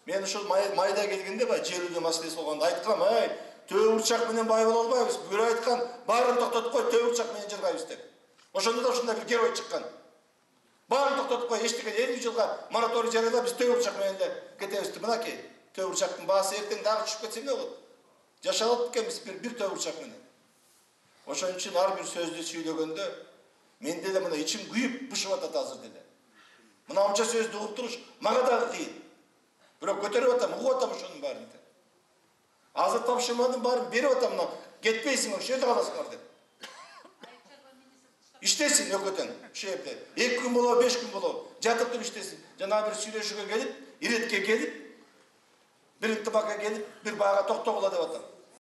Мен ушул майда келгенде баягы жер үйдө маселеси болгондо айткам, төө бурчак менен бай боло албайбыз. Бир айткан, баарын токтотуп кой, төө бурчак менен жыргайбыз деп. Ошондо да ушундай бир герой чыккан. Баарын токтотуп кой, эчтеке 50 жылга мораторий жарыялап, биз төө бурчак менен эле кетебиз деп. Мынакей, төө бурчактын баасы эртең дагы түшүп кетсе эмне болот? Жашап алып экенбиз бир төө бурчак менен. Ошон үчүн ар бир сөздү сүйлөгөндө менде деле мына ичим күйүп бышып атат азыр деле. Мына онча сөздү угуп туруш мага дагы кыйын. Бирок көтөрүп атам, угуп атам ошонун баарын. Азыр тапшырманын баарын берип атам, мына кетпейсиң, ошол жерде каласыңар деп. Иштесин өкөтөн, ошол жерде. 2 күн болобу, 5 күн болобу, жатып туруп иштесин. Жана бир сүйлөшүүгө келип, иретке келип, бир интибакка келип, бир бага токтогула деп атам.